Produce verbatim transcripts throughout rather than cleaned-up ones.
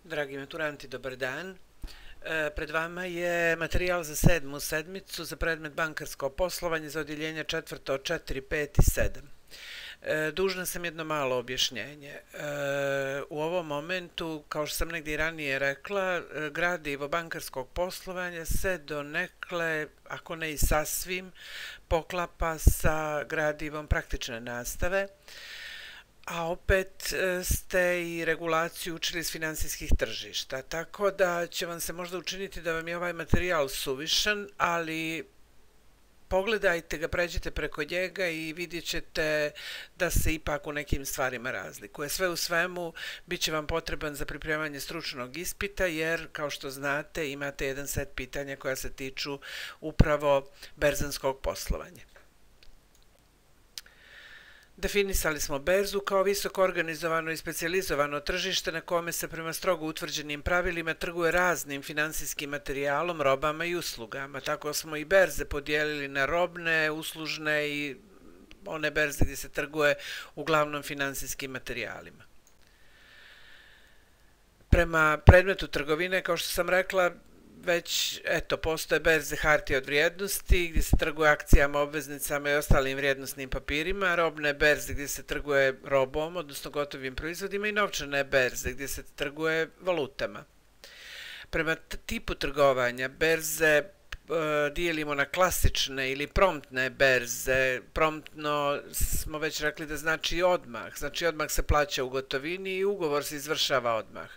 Dragi maturanti, dobar dan. E, pred vama je materijal za sedmu sedmicu za predmet bankarsko poslovanje za odjeljenje četvrto, četiri, pet i sedam. E, dužna sam jedno malo objašnjenje. E, u ovom momentu, kao što sam negdje ranije rekla, gradivo bankarskog poslovanja se donekle, ako ne i sasvim, poklapa sa gradivom praktične nastave, a opet ste i regulaciju učili iz finansijskih tržišta, tako da će vam se možda učiniti da vam je ovaj materijal suvišan, ali pogledajte ga, pređite preko njega i vidjet ćete da se ipak u nekim stvarima razlikuje. Sve u svemu bit će vam potreban za pripremanje stručnog ispita, jer kao što znate imate jedan set pitanja koja se tiču upravo berzanskog poslovanja. Definisali smo berzu kao visoko organizovano i specijalizovano tržište na kome se prema strogo utvrđenim pravilima trguje raznim finansijskim materijalom, robama i uslugama. Tako smo i berze podijelili na robne, uslužne i one berze gdje se trguje uglavnom finansijskim materijalima. Prema predmetu trgovine, kao što sam rekla, već, eto, postoje berze hartije od vrijednosti gdje se trguje akcijama, obveznicama i ostalim vrijednosnim papirima, robne berze gdje se trguje robom, odnosno gotovim proizvodima, i novčane berze gdje se trguje valutama. Prema tipu trgovanja berze dijelimo na klasične ili promptne berze. Promptno smo već rekli da znači odmah, znači odmah se plaća u gotovini i ugovor se izvršava odmah.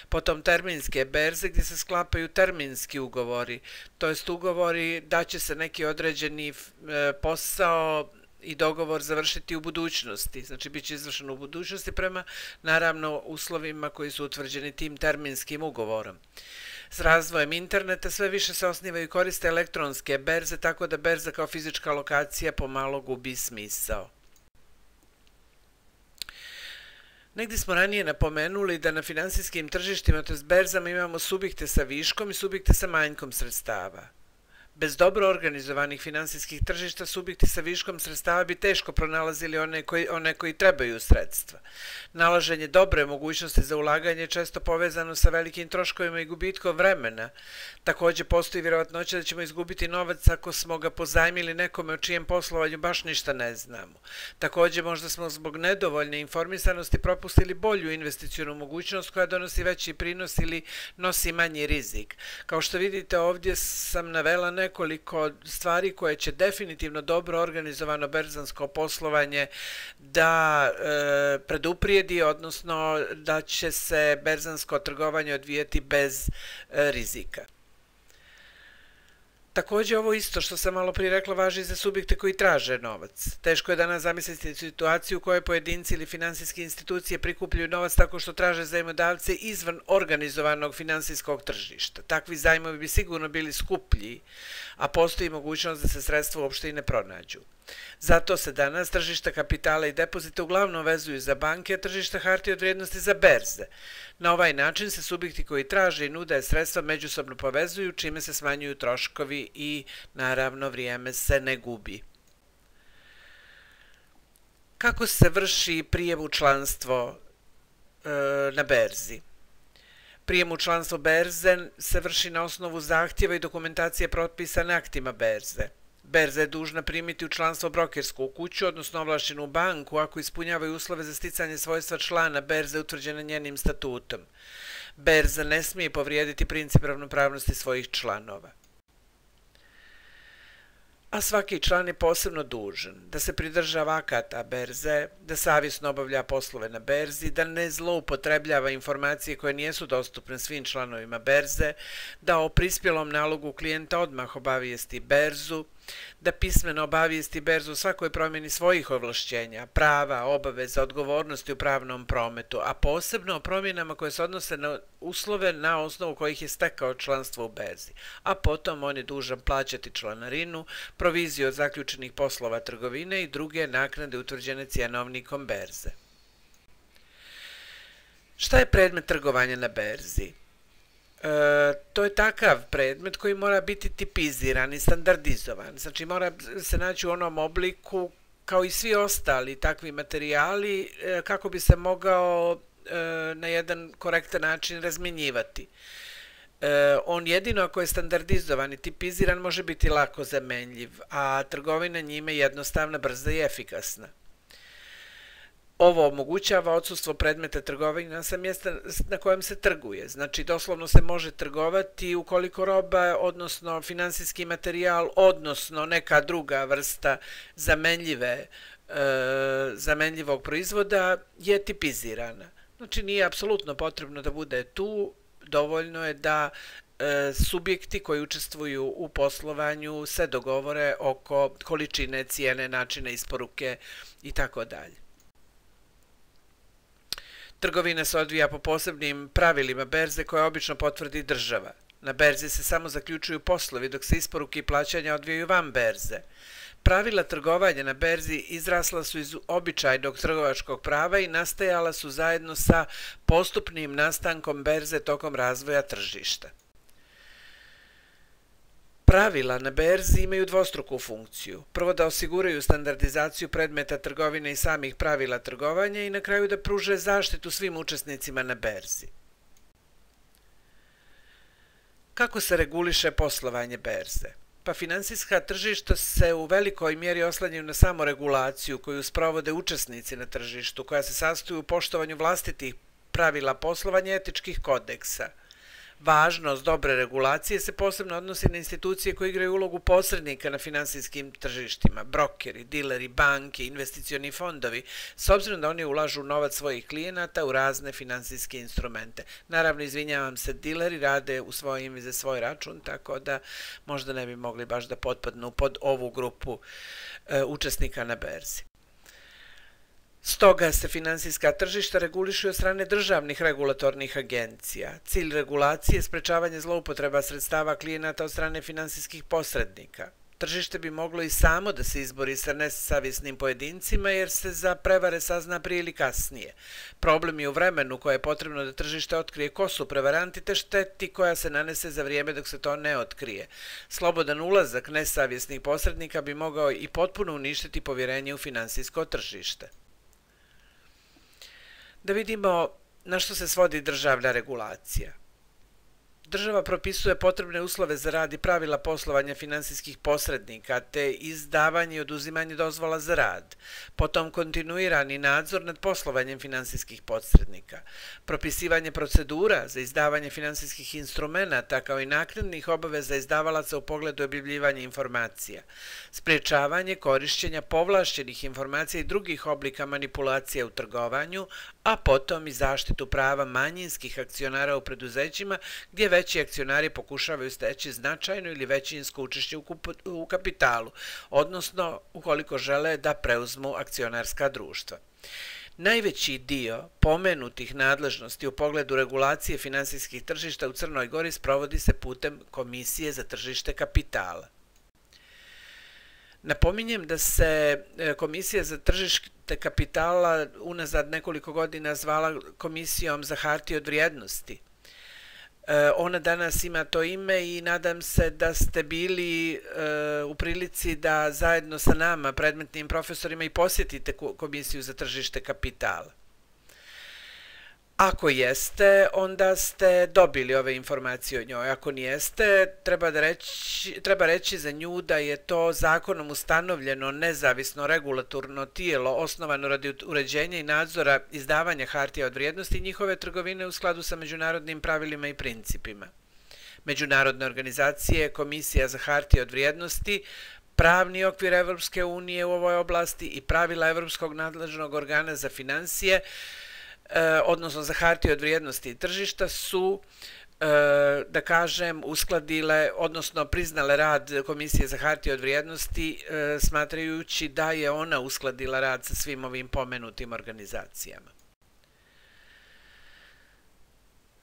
Potom terminske berze gdje se sklapaju terminski ugovori, to jest ugovori da će se neki određeni posao i dogovor završiti u budućnosti, znači bit će izvršen u budućnosti prema naravno uslovima koji su utvrđeni tim terminskim ugovorom. S razvojem interneta sve više se osnivaju i koriste elektronske berze, tako da berza kao fizička lokacija pomalo gubi smisao. Negdje smo ranije napomenuli da na finansijskim tržištima, to jest berzama, imamo subjekte sa viškom i subjekte sa manjkom sredstava. Bez dobro organizovanih finansijskih tržišta subjekti sa viškom sredstava bi teško pronalazili one koji, one koji trebaju sredstva. Nalaženje dobre mogućnosti za ulaganje je često povezano sa velikim troškovima i gubitkom vremena. Također postoji vjerovatnoća da ćemo izgubiti novac ako smo ga pozajmili nekome o čijem poslovanju baš ništa ne znamo. Također možda smo zbog nedovoljne informisanosti propustili bolju investicionu mogućnost koja donosi veći prinos ili nosi manji rizik. Kao što vidite, ovdje sam navela nekoliko stvari koje će definitivno dobro organizovano berzansko poslovanje da e, preduprijedi, odnosno da će se berzansko trgovanje odvijeti bez e, rizika. Također ovo isto što sam malo prije rekla važi i za subjekte koji traže novac. Teško je danas zamisliti situaciju u kojoj pojedinci ili finansijske institucije prikupljaju novac tako što traže zajmodavce izvan organizovanog finansijskog tržišta. Takvi zajmovi bi sigurno bili skuplji, a postoji mogućnost da se sredstva uopšte i ne pronađu. Zato se danas tržišta kapitala i depozita uglavnom vezuju za banke, a tržišta hartije od vrijednosti za berze. Na ovaj način se subjekti koji traže i nude sredstva međusobno povezuju, čime se smanjuju troškovi i naravno vrijeme se ne gubi. Kako se vrši prijem u članstvo e, na berzi? Prijem u članstvo berze se vrši na osnovu zahtjeva i dokumentacije propisane aktima berze. Berza je dužna primiti u članstvo brokersku kuću, odnosno ovlaštenu banku, ako ispunjavaju uslove za sticanje svojstva člana berze utvrđene njenim statutom. Berza ne smije povrijediti princip ravnopravnosti svojih članova. A svaki član je posebno dužan da se pridržava akata berze, da savjesno obavlja poslove na berzi, da ne zloupotrebljava informacije koje nisu dostupne svim članovima berze, da o prispjelom nalogu klijenta odmah obavijesti berzu, da pismeno obavijesti berzu o svakoj promjeni svojih ovlašćenja, prava, obaveza, odgovornosti u pravnom prometu, a posebno o promjenama koje se odnose na uslove na osnovu kojih je stekao članstvo u berzi, a potom on je dužan plaćati članarinu, proviziju od zaključenih poslova trgovine i druge naknade utvrđene cjenovnikom berze. Šta je predmet trgovanja na berzi? E, to je takav predmet koji mora biti tipiziran i standardizovan. Znači mora se naći u onom obliku kao i svi ostali takvi materijali kako bi se mogao na jedan korektan način razmjenjivati. On jedino ako je standardizovan i tipiziran može biti lako zamenljiv, a trgovina njime je jednostavna, brza i efikasna. Ovo omogućava odsustvo predmeta trgovine sa mjesta na kojem se trguje. Znači, doslovno se može trgovati ukoliko roba, odnosno finansijski materijal, odnosno neka druga vrsta zamenljive, e, zamenljivog proizvoda je tipizirana. Znači, nije apsolutno potrebno da bude tu, dovoljno je da e, subjekti koji učestvuju u poslovanju se dogovore oko količine, cijene, načina isporuke i tako dalje. Trgovina se odvija po posebnim pravilima berze koje obično potvrdi država. Na berzi se samo zaključuju poslovi dok se isporuke i plaćanja odvijaju van berze. Pravila trgovanja na berzi izrasla su iz običajnog trgovačkog prava i nastajala su zajedno sa postupnim nastankom berze tokom razvoja tržišta. Pravila na berzi imaju dvostruku funkciju. Prvo da osiguraju standardizaciju predmeta trgovine i samih pravila trgovanja i na kraju da pruže zaštitu svim učesnicima na berzi. Kako se reguliše poslovanje berze? Pa finansijska tržišta se u velikoj mjeri oslanjaju na samoregulaciju koju sprovode učesnici na tržištu, koja se sastoji u poštovanju vlastitih pravila poslovanja i etičkih kodeksa. Važnost dobre regulacije se posebno odnosi na institucije koje igraju ulogu posrednika na finansijskim tržištima, brokeri, dileri, banke, investicioni fondovi, s obzirom da oni ulažu novac svojih klijenata u razne finansijske instrumente. Naravno, izvinjavam se, dileri rade u svoje ime za svoj račun, tako da možda ne bi mogli baš da potpadnu pod ovu grupu e, učesnika na berzi. Stoga se finansijska tržišta regulišu od strane državnih regulatornih agencija. Cilj regulacije je sprečavanje zloupotreba sredstava klijenata od strane finansijskih posrednika. Tržište bi moglo i samo da se izbori sa nesavjesnim pojedincima jer se za prevare sazna prije ili kasnije. Problem je u vremenu koje je potrebno da tržište otkrije ko su prevaranti te šteti koja se nanese za vrijeme dok se to ne otkrije. Slobodan ulazak nesavjesnih posrednika bi mogao i potpuno uništiti povjerenje u finansijsko tržište. Da vidimo na što se svodi državna regulacija. Država propisuje potrebne uslove za rad i pravila poslovanja finansijskih posrednika, te izdavanje i oduzimanje dozvola za rad, potom kontinuirani nadzor nad poslovanjem finansijskih posrednika, propisivanje procedura za izdavanje finansijskih instrumenata kao i naknadnih obaveza izdavalaca u pogledu objavljivanja informacija, sprječavanje korišćenja povlašćenih informacija i drugih oblika manipulacija u trgovanju, a potom i zaštitu prava manjinskih akcionara u preduzećima gdje veći akcionari pokušavaju steći značajno ili većinsko učešće u kapitalu, odnosno ukoliko žele da preuzmu akcionarska društva. Najveći dio pomenutih nadležnosti u pogledu regulacije finansijskih tržišta u Crnoj Gori sprovodi se putem Komisije za tržište kapitala. Napominjem da se Komisija za tržište kapitala unazad nekoliko godina zvala Komisijom za hartije od vrijednosti. Ona danas ima to ime i nadam se da ste bili u prilici da zajedno sa nama, predmetnim profesorima, i posjetite Komisiju za tržište kapitala. Ako jeste, onda ste dobili ove informacije o njoj. Ako nijeste, treba, da reći, treba reći za nju da je to zakonom ustanovljeno nezavisno regulatorno tijelo osnovano radi uređenja i nadzora izdavanja hartija od vrijednosti i njihove trgovine u skladu sa međunarodnim pravilima i principima. Međunarodne organizacije, Komisija za hartije od vrijednosti, pravni okvir Evropske unije u ovoj oblasti i pravila Evropskog nadležnog organa za finansije, odnosno za hartije od vrijednosti i tržišta su, da kažem, uskladile, odnosno priznale rad Komisije za hartije od vrijednosti, smatrajući da je ona uskladila rad sa svim ovim pomenutim organizacijama.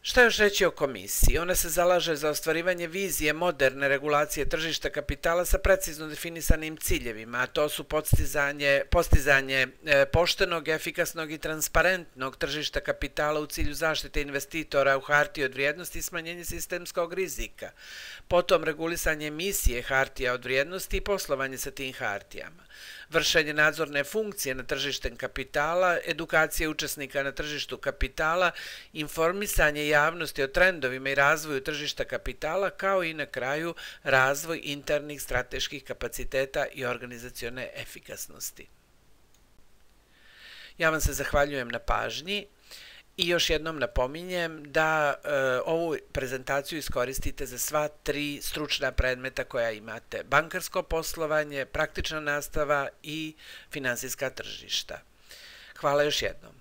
Šta još reći o komisiji? Ona se zalaže za ostvarivanje vizije moderne regulacije tržišta kapitala sa precizno definisanim ciljevima, a to su postizanje, postizanje poštenog, efikasnog i transparentnog tržišta kapitala u cilju zaštite investitora u hartije od vrijednosti i smanjenje sistemskog rizika, potom regulisanje emisije hartija od vrijednosti i poslovanje sa tim hartijama, vršenje nadzorne funkcije na tržištem kapitala, edukacije učesnika na tržištu kapitala, informisanje javnosti o trendovima i razvoju tržišta kapitala, kao i na kraju razvoj internih strateških kapaciteta i organizacione efikasnosti. Ja vam se zahvaljujem na pažnji i još jednom napominjem da e, ovu prezentaciju iskoristite za sva tri stručna predmeta koja imate: bankarsko poslovanje, praktična nastava i finansijska tržišta. Hvala još jednom.